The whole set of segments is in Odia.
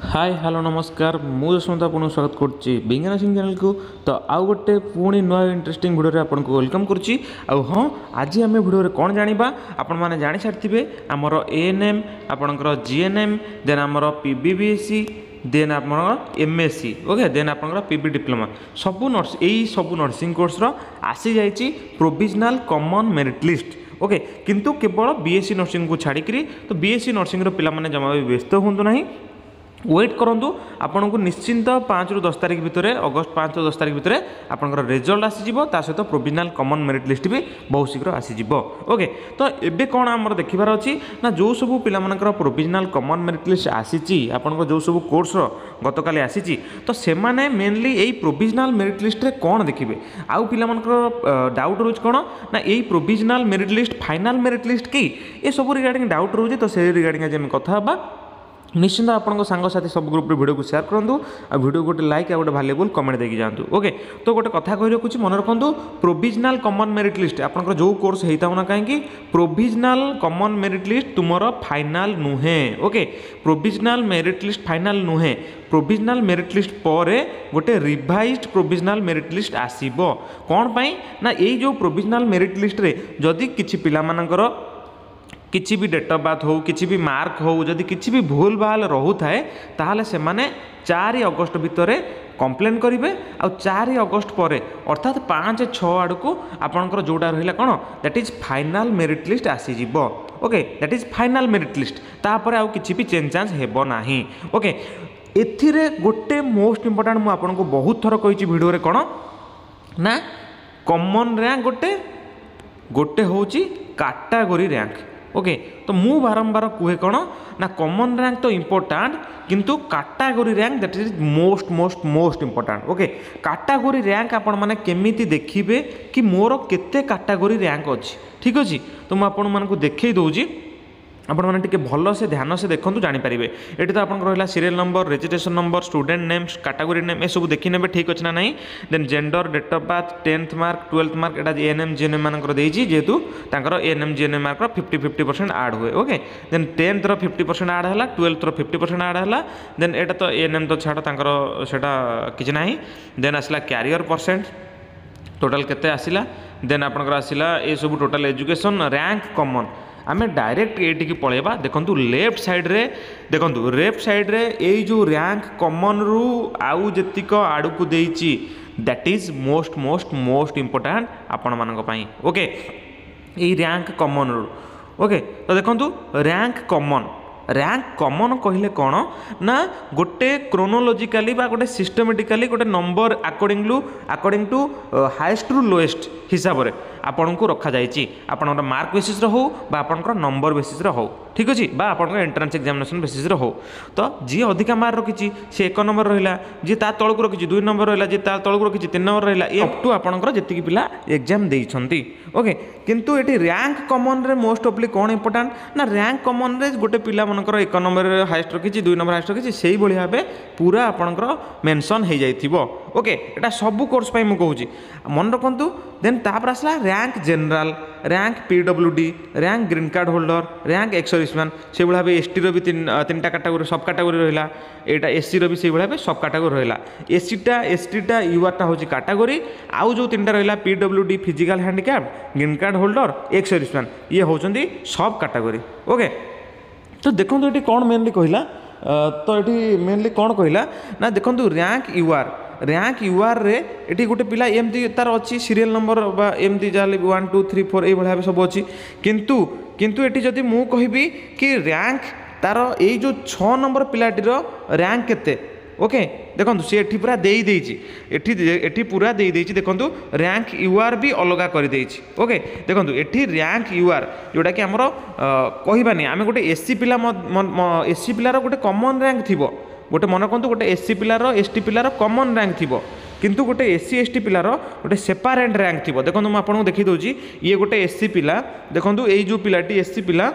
ହାଏ, ହ୍ୟାଲୋ, ନମସ୍କାର। ମୁଁ ଯଶବନ୍ତ ଆପଣଙ୍କୁ ସ୍ୱାଗତ କରୁଛି ବିଜ୍ଞାନ ସିଂ ଚ୍ୟାନେଲକୁ। ତ ଆଉ ଗୋଟେ ପୁଣି ନୂଆ ଇଣ୍ଟରେଷ୍ଟିଂ ଭିଡ଼ିଓରେ ଆପଣଙ୍କୁ welcome କରୁଛି। ଆଉ ହଁ, ଆଜି ଆମେ ଭିଡ଼ିଓରେ କ'ଣ ଜାଣିବା? ଆପଣମାନେ ଜାଣିସାରିଥିବେ, ଆମର ଏଏନ୍ଏମ୍, ଆପଣଙ୍କର ଜିଏନ୍ଏମ୍, ଦେନ୍ ଆମର ପିବିବିଏସ୍ସି, ଦେନ୍ ଆପଣଙ୍କର ଏମ୍ଏସ୍ସି, ଓକେ, ଦେନ୍ ଆପଣଙ୍କର ପିବି ଡିପ୍ଲୋମା, ସବୁ ନର୍ସ, ଏଇ ସବୁ ନର୍ସିଂ କୋର୍ସର ଆସିଯାଇଛି provisional common merit list. Okay, କିନ୍ତୁ କେବଳ ବିଏସ୍ସି ନର୍ସିଂକୁ ଛାଡ଼ିକିରି। ତ ବିଏସ୍ସି ନର୍ସିଂର ପିଲାମାନେ ଜମା ବି ବ୍ୟସ୍ତ ହୁଅନ୍ତୁ ନାହିଁ, ୱେଟ୍ କରନ୍ତୁ। ଆପଣଙ୍କୁ ନିଶ୍ଚିନ୍ତ 5ରୁ 10 ତାରିଖ ଭିତରେ, ଅଗଷ୍ଟ 5ରୁ 10 ତାରିଖ ଭିତରେ ଆପଣଙ୍କର ରେଜଲ୍ଟ ଆସିଯିବ। ତା ସହିତ ପ୍ରୋଭିଜନାଲ୍ କମନ୍ ମେରିଟ୍ ଲିଷ୍ଟ ବି ବହୁତ ଶୀଘ୍ର ଆସିଯିବ। ଓକେ, ତ ଏବେ କ'ଣ ଆମର ଦେଖିବାର ଅଛି ନା, ଯେଉଁ ସବୁ ପିଲାମାନଙ୍କର ପ୍ରୋଭିଜନାଲ୍ କମନ୍ ମେରିଟ୍ ଲିଷ୍ଟ ଆସିଛି, ଆପଣଙ୍କ ଯେଉଁ ସବୁ କୋର୍ସର ଗତକାଲି ଆସିଛି, ତ ସେମାନେ ମେନଲି ଏଇ ପ୍ରୋଭିଜନାଲ୍ ମେରିଟ୍ ଲିଷ୍ଟରେ କ'ଣ ଦେଖିବେ? ଆଉ ପିଲାମାନଙ୍କର ଡାଉଟ୍ ରହୁଛି କ'ଣ ନା, ଏଇ provisional merit list final merit list କି? ଏସବୁ ରିଗାର୍ଡ଼ିଂ ଡାଉଟ୍ ରହୁଛି। ତ ସେଇ ରିଗାର୍ଡ଼ିଂ ଆଜି ଆମେ କଥା ହେବା। ନିଶ୍ଚିନ୍ତ ଆପଣଙ୍କ ସାଙ୍ଗସାଥି ସବୁ ଗ୍ରୁପ୍ରେ ଭିଡ଼ିଓକୁ ସେୟାର କରନ୍ତୁ ଆଉ ଭିଡ଼ିଓ ଗୋଟେ ଲାଇକ୍ ଆଉ ଗୋଟେ ଭାଲ୍ୟୁବୁଲ୍ କମେଣ୍ଟ ଦେଇକି ଯାଆନ୍ତୁ। ଓକେ, ତ ଗୋଟେ କଥା କହି ରଖୁଛି, ମନେ ରଖନ୍ତୁ, ପ୍ରୋଭିଜନାଲ୍ କମନ୍ ମେରିଟ୍ ଲିଷ୍ଟ ଆପଣଙ୍କର ଯେଉଁ କୋର୍ସ ହେଇଥାଉ ନା କାହିଁକି, ପ୍ରୋଭିଜନାଲ୍ କମନ୍ ମେରିଟ୍ ଲିଷ୍ଟ ତୁମର ଫାଇନାଲ୍ ନୁହେଁ। Okay, provisional merit list final ନୁହେଁ। ପ୍ରୋଭିଜନାଲ୍ ମେରିଟ୍ ଲିଷ୍ଟ ପରେ ଗୋଟେ ରିଭାଇଜ୍ଡ ପ୍ରୋଭିଜନାଲ୍ ମେରିଟ୍ ଲିଷ୍ଟ ଆସିବ। କ'ଣ ପାଇଁ ନା, ଏଇ ଯେଉଁ ପ୍ରୋଭିଜନାଲ୍ ମେରିଟ୍ ଲିଷ୍ଟରେ ଯଦି କିଛି ପିଲାମାନଙ୍କର କିଛି ବି ଡେଟ୍ ଅଫ୍ ବାର୍ଥ ହେଉ, କିଛି ବି ମାର୍କ ହେଉ, ଯଦି କିଛି ବି ଭୁଲ ଭାଲ ରହୁଥାଏ, ତାହେଲେ ସେମାନେ 4 ଅଗଷ୍ଟ ଭିତରେ କମ୍ପ୍ଲେନ୍ କରିବେ। ଆଉ 4 ଅଗଷ୍ଟ ପରେ, ଅର୍ଥାତ୍ 5-6 ଆଡ଼କୁ ଆପଣଙ୍କର ଯେଉଁଟା ରହିଲା କ'ଣ, that is final merit list ଆସିଯିବ। Okay, that is final merit list. ତାପରେ ଆଉ କିଛି ବି ଚେଞ୍ଜ ଚାଞ୍ଜ ହେବ ନାହିଁ। ଓକେ, ଏଥିରେ ଗୋଟେ ମୋଷ୍ଟ ଇମ୍ପୋର୍ଟାଣ୍ଟ, ମୁଁ ଆପଣଙ୍କୁ ବହୁତ ଥର କହିଛି ଭିଡ଼ିଓରେ, କ'ଣ ନା କମନ୍ ର୍ୟାଙ୍କ ଗୋଟେ, ଗୋଟେ ହେଉଛି କାଟାଗୋରୀ ର୍ୟାଙ୍କ। ଓକେ, ତ ମୁଁ ବାରମ୍ବାର କୁହେ କ'ଣ ନା, କମନ୍ ର୍ୟାଙ୍କ ତ ଇମ୍ପୋର୍ଟାଣ୍ଟ, କିନ୍ତୁ category rank, that is most most most important. Okay, category rank ଆପଣମାନେ କେମିତି ଦେଖିବେ କି ମୋର କେତେ କାଟାଗୋରୀ ର୍ୟାଙ୍କ ଅଛି? ଠିକ୍ ଅଛି, ତ ମୁଁ ଆପଣମାନଙ୍କୁ ଦେଖେଇ ଦେଉଛି, ଆପଣମାନେ ଟିକେ ଭଲସେ ଧ୍ୟାନ ସେ ଦେଖନ୍ତୁ, ଜାଣିପାରିବେ। ଏଠି ତ ଆପଣଙ୍କର ରହିଲା serial number, registration number, student name, category name, ଏସବୁ ଦେଖିନେବେ ଠିକ୍ ଅଛି ନା ନାହିଁ। Then gender, date of birth, 10th mark, 12th mark. ଏଇଟା ଏଏନ୍ଏମ୍ ଜିଏନ୍ଏମ୍ ମାନଙ୍କର ଦେଇଛି, ଯେହେତୁ ତାଙ୍କର ଏଏନ୍ଏମ୍ ଜିଏନ୍ଏମ୍ ମାର୍କର 50-50% ଆଡ଼୍ ହୁଏ। ଓକେ, ଦେନ୍ ଟେନ୍ଥର 50% ଆଡ଼୍ ହେଲା, ଟୁଏଲ୍ଥର 50% ଆଡ଼୍ ହେଲା। ଦେନ୍ ଏଇଟା ତ ଏଏନ୍ଏମ୍ ତ ଛାଡ଼, ତାଙ୍କର ସେଇଟା କିଛି ନାହିଁ। ଦେନ୍ ଆସିଲା କ୍ୟାରିୟର ପରସେଣ୍ଟ, ଟୋଟାଲ୍ କେତେ ଆସିଲା। ଦେନ୍ ଆପଣଙ୍କର ଆସିଲା ଏସବୁ ଟୋଟାଲ୍ ଏଜୁକେସନ୍ ର୍ୟାଙ୍କ କମନ୍। ଆମେ ଡାଇରେକ୍ଟ ଏଇଠିକି ପଳେଇବା। ଦେଖନ୍ତୁ ଲେଫ୍ଟ ସାଇଡ଼୍ରେ, ଦେଖନ୍ତୁ ଲେଫ୍ଟ ସାଇଡ଼୍ରେ ଏଇ ଯେଉଁ ର୍ୟାଙ୍କ କମନ୍ରୁ ଆଉ ଯେତିକ ଆଡ଼କୁ ଦେଇଛି, that is most most most important ଆପଣମାନଙ୍କ ପାଇଁ। ଓକେ, ଏଇ ର୍ୟାଙ୍କ କମନ୍ରୁ, ଓକେ, ତ ଦେଖନ୍ତୁ ର୍ୟାଙ୍କ କମନ୍। ର୍ୟାଙ୍କ କମନ୍ କହିଲେ କ'ଣ ନା, ଗୋଟେ କ୍ରୋନୋଲୋଜିକାଲି ବା ଗୋଟେ ସିଷ୍ଟମେଟିକାଲି ଗୋଟେ ନମ୍ବର ଆକର୍ଡ଼ିଂ ଟୁ ହାଏଷ୍ଟରୁ ଲୋଏଷ୍ଟ ହିସାବରେ ଆପଣଙ୍କୁ ରଖାଯାଇଛି। ଆପଣଙ୍କର ମାର୍କ ବେସିସ୍ର ହେଉ ବା ଆପଣଙ୍କର ନମ୍ବର ବେସିସ୍ର ହେଉ, ଠିକ୍ ଅଛି, ବା ଆପଣଙ୍କର ଏଣ୍ଟ୍ରାନ୍ସ ଏକ୍ଜାମିନେସନ୍ ବେସିସ୍ର ହେଉ। ତ ଯିଏ ଅଧିକା ମାର୍କ ରଖିଛି ସେ 1 ନମ୍ବର ରହିଲା, ଯିଏ ତା ତଳକୁ ରଖିଛି 2 ନମ୍ବର ରହିଲା, ଯିଏ ତା ତଳକୁ ରଖିଛି 3 ନମ୍ବର ରହିଲା, ଏ ଅପ୍ ଟୁ ଆପଣଙ୍କର ଯେତିକି ପିଲା ଏକ୍ଜାମ୍ ଦେଇଛନ୍ତି। ଓକେ, କିନ୍ତୁ ଏଠି ର୍ୟାଙ୍କ କମନ୍ରେ ମୋଷ୍ଟ ଅଫଲି କ'ଣ ଇମ୍ପୋର୍ଟାଣ୍ଟ ନା, ର୍ୟାଙ୍କ କମନ୍ରେ ଗୋଟେ ପିଲା ମନେକର 1 ନମ୍ବରରେ ହାଏଷ୍ଟ ରଖିଛି, 2 ନମ୍ବର ହାଏଷ୍ଟ ରଖିଛି, ସେଇଭଳି ଭାବେ ପୁରା ଆପଣଙ୍କର ମେନସନ୍ ହେଇଯାଇଥିବ। ଓକେ, ଏଇଟା ସବୁ କୋର୍ସ ପାଇଁ ମୁଁ କହୁଛି, ମନେ ରଖନ୍ତୁ। ଦେନ୍ ତାପରେ ଆସିଲା rank general, rank PWD, rank green card holder, rank ex serviceman. ସେଇଭଳି ଭାବେ ଏସ୍ଟିର ବି ତିନିଟା କାଟାଗୋରୀ, ସବ୍ କାଟାଗୋରୀ ରହିଲା। ଏଇଟା ଏସ୍ସିର ବି ସେଇଭଳି ଭାବେ ସବ୍ କାଟାଗୋରୀ ରହିଲା। ଏସ୍ସିଟା, ଏସ୍ଟିଟା, ୟୁଆର୍ଟା ହେଉଛି କାଟାଗୋରୀ। ଆଉ ଯେଉଁ ତିନିଟା ରହିଲା, PWD, physical handicap, green card holder, ex serviceman, ଇଏ ହେଉଛନ୍ତି ସବ୍ କାଟାଗୋରୀ। ଓକେ, ତ ଦେଖନ୍ତୁ ଏଠି କ'ଣ ମେନଲି କହିଲା। ତ ଏଠି ମେନଲି କ'ଣ କହିଲା ନା, ଦେଖନ୍ତୁ ର୍ୟାଙ୍କ ୟୁଆର୍, ର୍ୟାଙ୍କ ୟୁଆର୍ରେ ଏଠି ଗୋଟେ ପିଲା ଏମିତି ତାର ଅଛି ସିରିଏଲ୍ ନମ୍ବର ବା ଏମିତି ଯାହାହେଲେ 1 2 3 4 ଏଇଭଳି ଭାବେ ସବୁ ଅଛି। କିନ୍ତୁ ଏଠି ଯଦି ମୁଁ କହିବି କି ର୍ୟାଙ୍କ ତାର ଏଇ ଯେଉଁ 6 ନମ୍ବର ପିଲାଟିର ର୍ୟାଙ୍କ କେତେ, ଓକେ, ଦେଖନ୍ତୁ ସେ ଏଠି ପୁରା ଦେଇଦେଇଛି, ଏଠି ପୁରା ଦେଇଦେଇଛି। ଦେଖନ୍ତୁ, ର୍ୟାଙ୍କ ୟୁଆର୍ ବି ଅଲଗା କରିଦେଇଛି। ଓକେ, ଦେଖନ୍ତୁ ଏଠି ର୍ୟାଙ୍କ ୟୁଆର୍ ଯେଉଁଟାକି ଆମର କହିବାନି ଆମେ, ଗୋଟେ ଏସ୍ ସି ପିଲା, ଏସ୍ ସି ପିଲାର ଗୋଟେ କମନ୍ ର୍ୟାଙ୍କ ଥିବ। ଗୋଟେ ମନେ ରଖନ୍ତୁ, ଗୋଟେ ଏସ୍ ସି ପିଲାର, ଏସ୍ ଟି ପିଲାର କମନ୍ ର୍ୟାଙ୍କ ଥିବ, କିନ୍ତୁ ଗୋଟେ ଏସ୍ ସି ଏସ୍ ଟି ପିଲାର ଗୋଟେ ସେପାରେଟ୍ ର୍ୟାଙ୍କ ଥିବ। ଦେଖନ୍ତୁ, ମୁଁ ଆପଣଙ୍କୁ ଦେଖାଇ ଦେଉଛି। ଇଏ ଗୋଟେ ଏସ୍ ସି ପିଲା। ଦେଖନ୍ତୁ, ଏଇ ଯେଉଁ ପିଲାଟି ଏସ୍ ସି ପିଲା,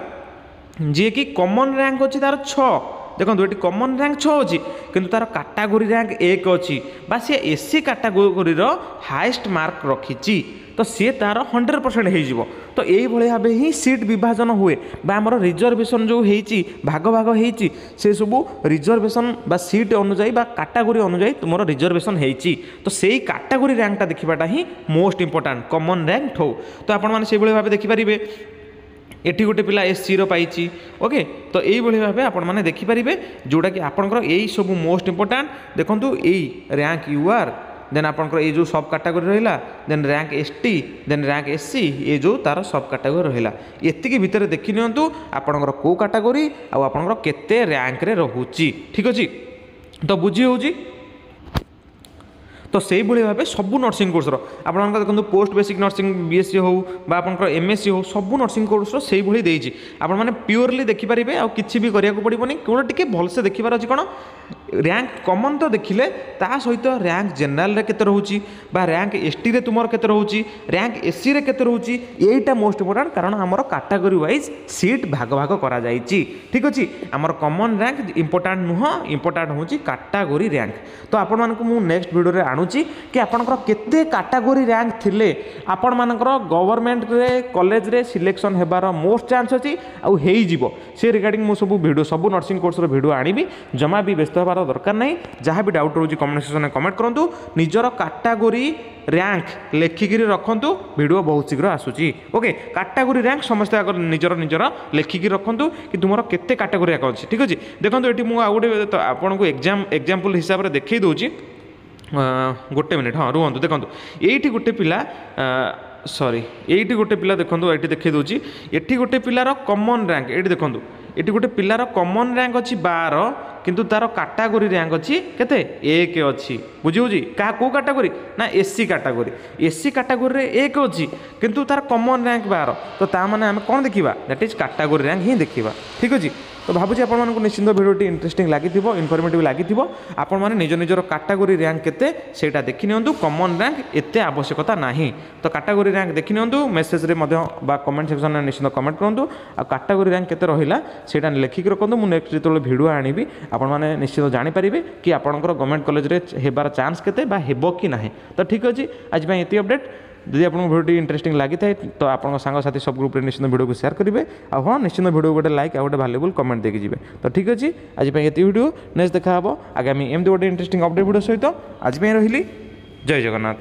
ଯିଏକି କମନ୍ ର୍ୟାଙ୍କ ଅଛି ତାର 6। ଦେଖନ୍ତୁ ଏଠି କମନ୍ ର୍ୟାଙ୍କ 6 ଅଛି, କିନ୍ତୁ ତାର କାଟାଗୋରୀ ର୍ୟାଙ୍କ 1 ଅଛି ବା ସିଏ ଏସ୍ ସି କାଟାଗୋରୀର ହାଏଷ୍ଟ ମାର୍କ ରଖିଛି, ତ ସିଏ ତାର 100% ହେଇଯିବ। ତ ଏଇଭଳି ଭାବେ ହିଁ ସିଟ୍ ବିଭାଜନ ହୁଏ ବା ଆମର ରିଜର୍ଭେସନ୍ ଯେଉଁ ହେଇଛି, ଭାଗ ଭାଗ ହେଇଛି, ସେସବୁ ରିଜର୍ଭେସନ୍ ବା ସିଟ୍ ଅନୁଯାୟୀ ବା କାଟାଗୋରୀ ଅନୁଯାୟୀ ତୁମର ରିଜର୍ଭେସନ୍ ହେଇଛି। ତ ସେଇ କାଟାଗୋରୀ ର୍ୟାଙ୍କଟା ଦେଖିବାଟା ହିଁ ମୋଷ୍ଟ ଇମ୍ପୋର୍ଟାଣ୍ଟ କମନ୍ ର୍ୟାଙ୍କ ଠୁ। ତ ଆପଣମାନେ ସେଇଭଳି ଭାବେ ଦେଖିପାରିବେ, ଏଠି ଗୋଟେ ପିଲା ଏସ୍ ସିର ପାଇଛି। ଓକେ, ତ ଏଇଭଳି ଭାବେ ଆପଣମାନେ ଦେଖିପାରିବେ, ଯେଉଁଟାକି ଆପଣଙ୍କର ଏଇ ସବୁ ମୋଷ୍ଟ ଇମ୍ପୋର୍ଟାଣ୍ଟ। ଦେଖନ୍ତୁ, ଏଇ ର୍ୟାଙ୍କ you ଆର୍, ଦେନ୍ ଆପଣଙ୍କର ଏଇ ଯେଉଁ ସବ୍ କାଟାଗୋରୀ ରହିଲା, ଦେନ୍ rank S T, ଦେନ୍ ର୍ୟାଙ୍କ ଏସ୍ ସି, ଏ ଯେଉଁ ତାର ସବ୍ କାଟାଗୋରୀ ରହିଲା, ଏତିକି ଭିତରେ ଦେଖିନିଅନ୍ତୁ ଆପଣଙ୍କର କେଉଁ କାଟାଗୋରୀ ଆଉ ଆପଣଙ୍କର କେତେ ର୍ୟାଙ୍କରେ ରହୁଛି। ଠିକ୍ ଅଛି, ତ ବୁଝି ହେଉଛି? ତ ସେଇଭଳି ଭାବେ ସବୁ ନର୍ସିଂ କୋର୍ସର ଆପଣଙ୍କର ଦେଖନ୍ତୁ, post basic nursing B S C ହେଉ ବା ଆପଣଙ୍କର ଏମ୍ ଏସ୍ ସି ହେଉ, ସବୁ ନର୍ସିଂ କୋର୍ସର ସେଇଭଳି ଦେଇଛି। ଆପଣମାନେ ପିଓରଲି ଦେଖିପାରିବେ, ଆଉ କିଛି ବି କରିବାକୁ ପଡ଼ିବନି। କେବଳ ଟିକେ ଭଲସେ ଦେଖିବାର ଅଛି କ'ଣ? ର୍ୟାଙ୍କ କମନ୍ ତ ଦେଖିଲେ, ତା ସହିତ ର୍ୟାଙ୍କ ଜେନେରାଲରେ କେତେ ରହୁଛି ବା ର୍ୟାଙ୍କ ଏସ୍ ଟିରେ ତୁମର କେତେ ରହୁଛି, ର୍ୟାଙ୍କ ଏସ୍ ସିରେ କେତେ ରହୁଛି, ଏଇଟା ମୋଷ୍ଟ ଇମ୍ପୋର୍ଟାଣ୍ଟ, କାରଣ ଆମର କାଟାଗୋରୀ ୱାଇଜ୍ ସିଟ୍ ଭାଗ ଭାଗ କରାଯାଇଛି। ଠିକ୍ ଅଛି, ଆମର କମନ୍ ର୍ୟାଙ୍କ ଇମ୍ପୋର୍ଟାଣ୍ଟ ନୁହଁ, ଇମ୍ପୋର୍ଟାଣ୍ଟ ହେଉଛି କାଟାଗୋରୀ ର୍ୟାଙ୍କ। ତ ଆପଣମାନଙ୍କୁ ମୁଁ ନେକ୍ସଟ ଭିଡ଼ିଓରେ ଆଣୁଛି କି ଆପଣଙ୍କର କେତେ କାଟାଗୋରୀ ର୍ୟାଙ୍କ ଥିଲେ ଆପଣମାନଙ୍କର ଗଭର୍ଣ୍ଣମେଣ୍ଟରେ କଲେଜରେ ସିଲେକ୍ସନ୍ ହେବାର ମୋଷ୍ଟ ଚାନ୍ସ ଅଛି ଆଉ ହେଇଯିବ। ସେ ରିଗାର୍ଡ଼ିଂ ମୁଁ ସବୁ ଭିଡ଼ିଓ, ସବୁ ନର୍ସିଂ କୋର୍ସର ଭିଡ଼ିଓ ଆଣିବି। ଜମା ବି ବ୍ୟସ୍ତ ହେବାର ଦରକାର ନାହିଁ। ଯାହା ବି ଡାଉଟ୍ ରହୁଛି କମେଣ୍ଟ ସେକ୍ସନରେ କମେଣ୍ଟ କରନ୍ତୁ, ନିଜର କାଟାଗୋରୀ ର୍ୟାଙ୍କ ଲେଖିକିରି ରଖନ୍ତୁ, ଭିଡ଼ିଓ ବହୁତ ଶୀଘ୍ର ଆସୁଛି। ଓକେ, କାଟାଗୋରୀ ର୍ୟାଙ୍କ ସମସ୍ତେ ଆଗ ନିଜର ନିଜର ଲେଖିକି ରଖନ୍ତୁ କି ତୁମର କେତେ କାଟାଗୋରୀ ର୍ୟାଙ୍କ ଅଛି। ଠିକ୍ ଅଛି, ଦେଖନ୍ତୁ ଏଠି ମୁଁ ଆଉ ଗୋଟେ ଆପଣଙ୍କୁ ଏକ୍ଜାମ୍ପଲ୍ ହିସାବରେ ଦେଖେଇ ଦେଉଛି। ଗୋଟେ ମିନିଟ୍, ହଁ ରୁହନ୍ତୁ। ଦେଖନ୍ତୁ ଏଇଠି ଗୋଟେ ପିଲା, ସରି, ଏଇଠି ଗୋଟେ ପିଲା ଦେଖନ୍ତୁ, ଏଇଠି ଦେଖେଇ ଦେଉଛି। ଏଠି ଗୋଟେ ପିଲାର କମନ୍ ର୍ୟାଙ୍କ, ଏଇଠି ଦେଖନ୍ତୁ, ଏଠି ଗୋଟେ ପିଲାର କମନ୍ ର୍ୟାଙ୍କ ଅଛି 12, କିନ୍ତୁ ତାର କାଟାଗୋରୀ ର୍ୟାଙ୍କ ଅଛି କେତେ? 1 ଅଛି। ବୁଝି ହେଉଛି? କାହା କେଉଁ କାଟାଗୋରୀ ନା S C category. S C କାଟାଗୋରୀରେ 1 ଅଛି, କିନ୍ତୁ ତାର କମନ୍ ର୍ୟାଙ୍କ 12। ତ ତା ମାନେ ଆମେ କ'ଣ ଦେଖିବା? That is category rank ହିଁ ଦେଖିବା। ଠିକ୍ ଅଛି, ତ ଭାବୁଛି ଆପଣମାନଙ୍କୁ ନିଶ୍ଚିନ୍ତ ଭିଡ଼ିଓଟି ଇଣ୍ଟରେଷ୍ଟିଂ ଲାଗିଥିବ, ଇନଫର୍ମେଟିଭ୍ ଲାଗିଥିବ। ଆପଣମାନେ ନିଜ ନିଜର କାଟାଗୋରୀ ର୍ୟାଙ୍କ କେତେ ସେଇଟା ଦେଖିନିଅନ୍ତୁ, କମନ୍ ର୍ୟାଙ୍କ ଏତେ ଆବଶ୍ୟକତା ନାହିଁ। ତ କାଟାଗୋରୀ ର୍ୟାଙ୍କ ଦେଖିନିଅନ୍ତୁ, ମେସେଜରେ ମଧ୍ୟ ବା କମେଣ୍ଟ ସେକ୍ସନରେ ନିଶ୍ଚିନ୍ତ କମେଣ୍ଟ କରନ୍ତୁ, ଆଉ କାଟାଗୋରୀ ର୍ୟାଙ୍କ କେତେ ରହିଲା ସେଇଟା ଲେଖିକି ରଖନ୍ତୁ। ମୁଁ ନେକ୍ସଟ ଯେତେବେଳେ ଭିଡ଼ିଓ ଆଣିବି, ଆପଣମାନେ ନିଶ୍ଚିତ ଜାଣିପାରିବେ କି ଆପଣଙ୍କର ଗଭର୍ଣ୍ଣମେଣ୍ଟ କଲେଜରେ ହେବାର ଚାନ୍ସ କେତେ ବା ହେବ କି ନାହିଁ। ତ ଠିକ୍ ଅଛି, ଆଜି ପାଇଁ ଏତିକି ଅପଡ଼େଟ୍। ଯଦି ଆପଣଙ୍କୁ ଭିଡ଼ିଓଟି ଇଣ୍ଟରେଷ୍ଟିଂ ଲାଗିଥାଏ, ତ ଆପଣଙ୍କ ସାଙ୍ଗସାଥି ସବୁ ଗ୍ରୁପ୍ରେ ନିଶ୍ଚିନ୍ତ ଭିଡ଼ିଓକୁ ସେୟାର କରିବେ, ଆଉ ହଁ, ନିଶ୍ଚିନ୍ତ ଭିଡ଼ିଓ ଗୋଟେ ଲାଇକ୍ ଆଉ ଗୋଟେ ଭାଲ୍ୟୁବୁଲ୍ କମେଣ୍ଟ ଦେଇକି ଯିବେ। ତ ଠିକ୍ ଅଛି, ଆଜି ପାଇଁ ଏତିକି ଭିଡ଼ିଓ। ନେକ୍ସଟ ଦେଖା ହେବ ଆଗାମୀ ଏମିତି ଗୋଟେ ଇଣ୍ଟରେଷ୍ଟିଂ ଅପଡ଼େଟ୍ ଭିଡ଼ିଓ ସହିତ। ଆଜି ପାଇଁ ରହିଲି, ଜୟ ଜଗନ୍ନାଥ।